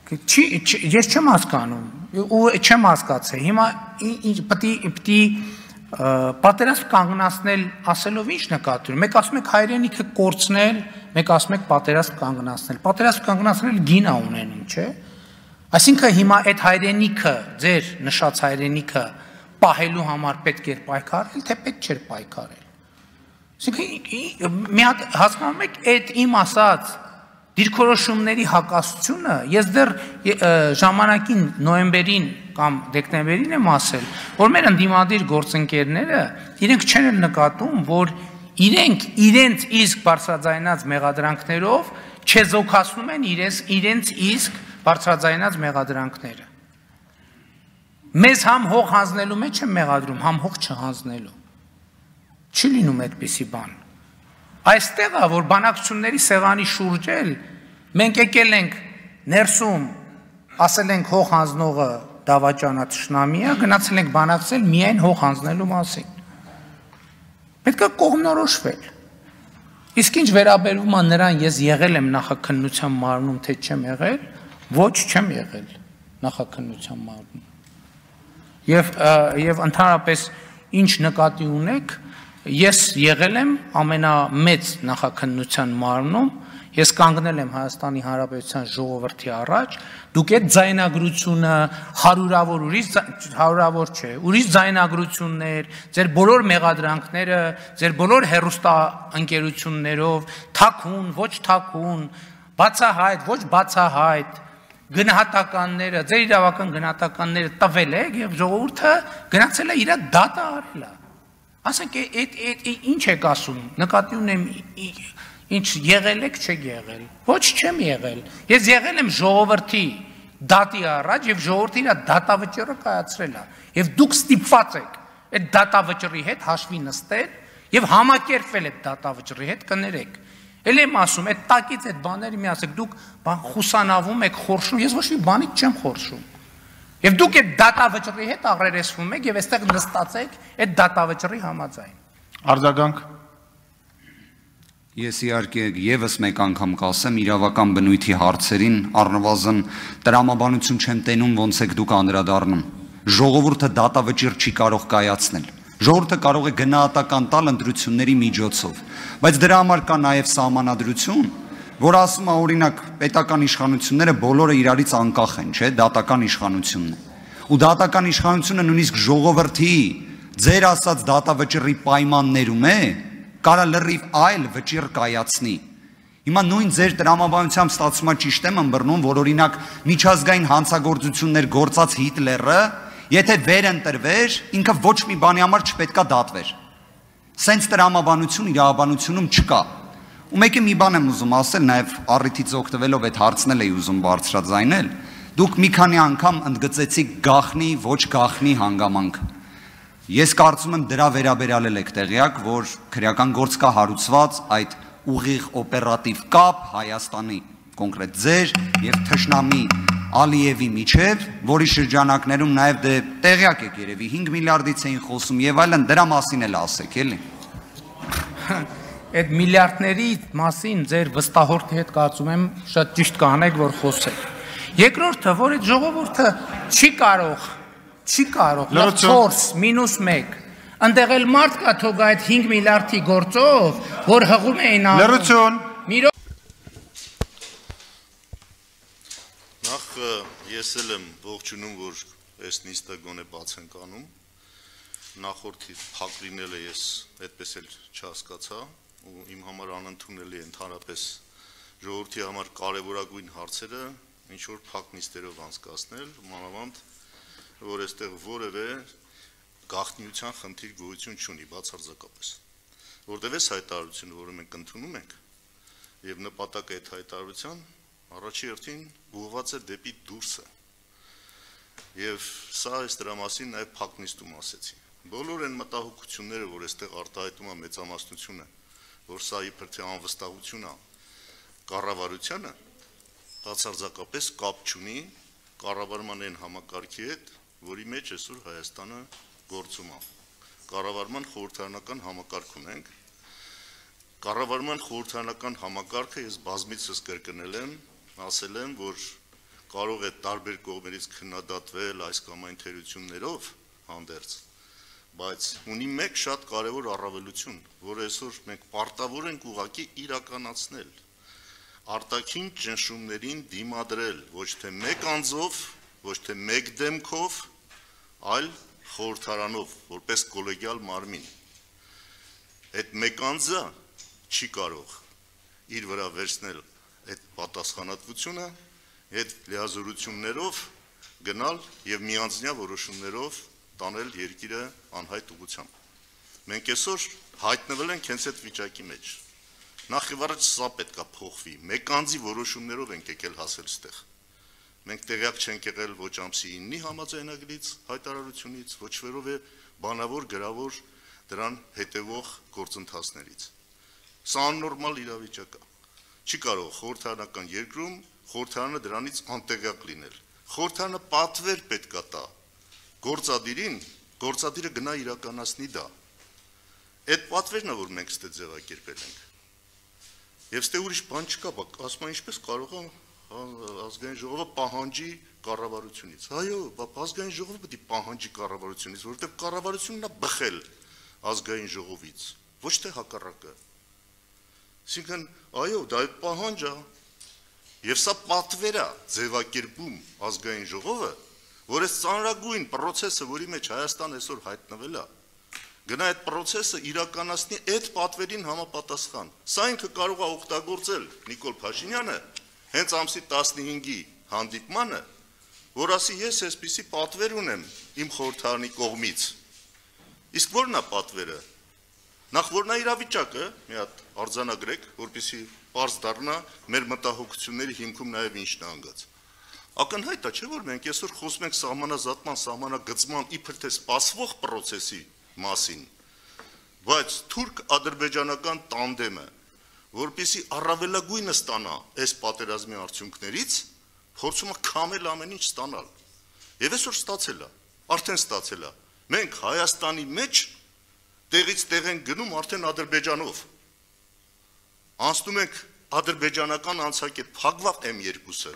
Ես չեմ հասկանում, ու չեմ հասկացել, հիմա պտի պատերազմ կանգնացնել ասելով ինչ նկատի ունի, մեկ ասում եք հայրենիքը կորցնել, մեկ ասում եք պատերազմ կանգնացնել գինա ունենում, չէ, այսինքն հիմա այդ հայրենիքը, ձեր նշած հայրենիքը պահելու համար պետք էր պայքարել, թե պետք չէր պայքարել, այսինքն մի հատ հասկանում եք այդ իմ ասած դիրքորոշումների հակասությունը, ես դեռ ժամանակին նոյեմբերին կամ դեկտեմբերին եմ ասել, որ մեր ընդդիմադիր գործընկերները իրենք չեն էլ նկատում, որ իրենց իսկ բարձրաձայնած մեղադրանքներով չեզոքացնում են իրենց իսկ բարձրաձայնած մեղադրանքները։ Մեզ համ հող հանձնելու մեջ են մեղադրում, համ հող չհանձնելու։ Չի լինում այդպիսի բան։ Այստեղ է, որ բանակցությունների սեղանի շուրջ էլ մենք եկել ենք ներսում, ասել ենք հող հանձնողը դավաճանա թշնամի է, գնացել ենք բանակցել միայն հող հանձնելու մասին։ Պետք է կողմնորոշվել։ Իսկ ինչ վերաբերվում է նրան, ես եղել եմ նախաքննության մարմնում, թե չեմ եղել, ոչ չեմ եղել նախաքննության մարմնում։ Եվ ընդհանրապես ինչ նկատի ունեք, ես եղել եմ ամենամեծ նախաքննության մարմնում, ես կանգնել եմ Հայաստանի Հանրապետության ժողովրդի առաջ, դուք այդ ձայնագրությունը հարյուրավոր չէ, ուրիշ ձայնագրություններ, ձեր բոլոր մեղադրանքները, ձեր բոլոր հեռուստաընկերություններով, թաքուն, ոչ թաքուն, բացահայտ, ոչ բացահայտ, գնահատականները, ձեր իրավական գնահատականները տվել եք եւ ժողովուրդը գնացել է իր դատը արել է։ Ասենք ինչ եք ասում, նկատի ունեմ ինչ եղել եք, չեք եղել, ոչ չեմ եղել, ես եղել եմ ժողովրդի դատի առաջ և ժողովրդի իր դատավճիռը կայացրել է, և դուք ստիպված եք այդ դատավճիռի հետ հաշվի նստել և համակերպվել այդ դատավճիռի հետ կներեք, էլ եմ ասում, այդ տակից այդ բաների մի ասեք, դուք խուսանավում եք, խորշում, ես ոչ մի բանից չեմ խորշում, և դուք այդ դատավճռի հետ աղրերեսվում եք և այստեղ նստացեք այդ դատավճռի համաձայն։ Արձագանք։ Ես իհարկե ևս մեկ անգամ կասեմ իրավական բնույթի հարցերին առնվազն տրամաբանություն չեմ տենում ոնց եք դուք անդրադառնում։ Ժողովուրդը դատավճիռ չի կարող կայացնել։ Ժողովուրդը կարող է գնահատական տալ ընտրությունների միջոցով, բայց դրա համար կա նաև սահմանադրություն, որ ասում է օրինակ պետական իշխանությունները բոլորը իրարից անկախ են, չէ, դատական իշխանությունն է։ Ու դատական իշխանությունը նույնիսկ ժողովրդի ձեր ասած դատավճիռի պայմաններում է, կարա լրիվ այլ վճիռ կայացնի։ Հիմա նույն ձեր տրամաբանությամբ ստացվում է ճիշտ եմ ըմբռնում, որ օրինակ միջազգային հանցագործություններ գործած Հիտլերը, եթե վերընտրվեր, ինքը ոչ մի բանի համար չպետքա դատվեր։ Սենց տրամաբանություն իրավաբանությունում չկա։ Ու մեկը մի բան եմ ուզում ասել, նաև առիթից օգտվելով այդ հարցն էլ էի ուզում բարձրաձայնել, դուք մի քանի անգամ ընդգծեցիք գաղտնի, ոչ գաղտնի հանգամանք։ Ես կարծում եմ դրա վերաբերյալ եք տեղյակ, որ քրեական գործ կա հարուցված այդ ուղիղ օպերատիվ կապ Հայաստանի կոնկրետ ձեր եւ թշնամի Ալիևի միջև, որի շրջանակներում նաև դե տեղյակ եք երևի 5 միլիարդից էին խոսում եւ այլն, դրա մասին էլ ասեք, էլի։ Այդ միլիարդների մասին ձեր վստահորդի հետ կարծում եմ շատ ճիշտ կանեք, որ խոսեք։ Երկրորդը, որ այդ ժողովուրդը չի կարող, 4-1, ընդեղ էլ մարդ կա թող այդ 5 միլիարդի գործով, որ հղում էին Լրություն։ Նախ ես էլ եմ ողջունում, որ այս նիստը գոնե բաց ենք անում, նախորդի փակ լինելը ես այդպես էլ չհասկացա, ու իմ համար անընդունելի է ընդհանրապես ժողովրդի համար կարևորագույն հարցերը ինչ-որ փակ նիստերով անցկացնել, մանավանդ, որ այստեղ որևէ գաղտնիության խնդիր գոյություն չունի, բացարձակապես, որտև էս հայտարարությունը, որը մենք ընդունում ենք, և նպատակը այդ հայտարարության առաջի հերթին ուղղված է դեպի դուրսը, և սա այս դրա մասին նաև փակ նիստում ասեցի։ Բոլոր այն մտահոգությունները, որ այստեղ արտահայտում է մեծամասնությունը, որ սա իբր թե անվստահություն է կառավարությանը, բացարձակապես կապ չունի կառավարման այն համակարգի հետ, որի մեջ այսօր Հայաստանը գործում է։ Կառավարման խորհրդարանական համակարգ ունենք։ Կառավարման խորհրդարանական համակարգը ես բազմիցս կրկնել եմ, ասել եմ, որ կարող է տարբեր կողմերից քննադատվել այս կամ այն թերություններով հանդերձ, բայց ունի մեկ շատ կարևոր առավելություն, որը այսօր մենք պարտավոր ենք ուղղակի իրականացնել, արտաքին ճնշումներին դիմադրել, ոչ թե մեկ անձով, ոչ թե մեկ դեմքով, այլ խորհրդարանով, որպես կոլեգիալ մարմին։ Այդ մեկ անձը չի կարող իր վրա վերցնել այդ պատասխանատվությունը, այդ լիազորություններով գնալ եւ միանձնյա որոշումներով տանել երկիրը անհայտ ուղղությամբ։ Մենք այսօր հայտնվել ենք հենց այդ վիճակի մեջ։ Նախ եւ առաջ սա պետք է փոխվի։ Մեկ անձի որոշումներով ենք եկել հասել այստեղ։ Մենք տեղյակ չենք եղել ոչ ամսի 9-ի համաձայնագրից, հայտարարությունից, ոչ որևէ բանավոր գրավոր դրան հետևող գործընթացներից։ Սա աննորմալ իրավիճակ է։ Չի կարող խորհրդարանական երկրում խորհրդարանը դրանից անտեղյակ լինել։ Խորհրդարանը պատվեր պետք է տա գործադիրին, գործադիրը գնա իրականացնի դա։ Այդ պատվերն է, որ մենք ստե ձևակերպել ենք։ Եվ ստե ուրիշ բան չկա, ասում են ինչպես կարող է ազգային ժողովը պահանջի կառավարությունից։ Այո, ազգային ժողովը պետք է պահանջի կառավարությունից, որովհետև կառավարությունն է բխել ազգային ժողովից, ոչ թե հակառակը։ Այսինքն, այո, դա է պահանջ է, եւ սա պատվեր է ձևակերպում ազգային ժողովը, որ այս ծանրագույն process-ը, որի մեջ Հայաստանը այսօր հայտնվել է, գնա այդ process-ը իրականացնի այդ պատվերին համապատասխան։ Սա ինքը կարող է օգտագործել Նիկոլ Փաշինյանը հենց ամսի 15-ի հանդիպմանը, որ ասի ես այսպիսի պատվեր ունեմ իմ խորհրդարանի կողմից։ Իսկ ո՞րն է պատվերը։ Նախ որն է իրավիճակը, մի հատ արձանագրեք, որպեսզի պարզ դառնա մեր մտահոգությունների հիմքում նաև ինչն է անգած։ Ակնհայտ է, չէ՞ որ մենք այսօր խոսում ենք սահմանազատման, սահմանագծման իբր թե սպասվող process-ի մասին, բայց թուրք-ադրբեջանական տանդեմը, որպեսզի առավելագույնը ստանա այս պատերազմի արդյունքներից, փորձում է քամել ամեն ինչ ստանալ։ Եվ այսօր ստացել է, արդեն ստացել է։ Մենք Հայաստանի մեջ տեղից տեղ ենք գնում արդեն Ադրբեջանով։ Անցնում ենք ադրբեջանական անցակետ, փակվա M2-ը,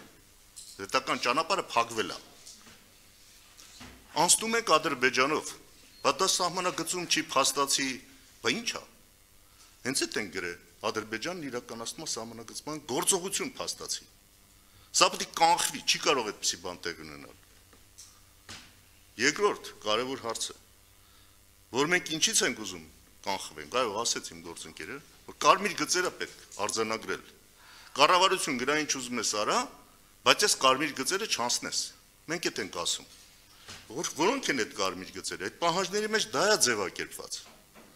դետական ճանապարհը փակվել է։ Անցնում ենք Ադրբեջանով, բայց դա սահմանագծում չի փաստացի, բա ի՞նչ է։ Հենց այդ են գրել Ադրբեջանն իրականացնում է սահմանագծման գործողություն փաստացի։ Սա պետք է կանխվի, չի կարող այդպիսի բան տեղ ունենալ։ Երկրորդ կարևոր հարցը, որ մենք ինչից ենք ուզում կանխվենք, այո, ասեց իմ գործընկերը, որ կարմիր գծերը պետք արձանագրել։ Կառավարություն գնա ինչ ուզում ես արա, բայց այս կարմիր գծերը չանցնես։ Մենք այդ ենք ասում։ Որոնք են այդ կարմիր գծերը։ Այդ պահանջների մեջ դա է ձևակերպված։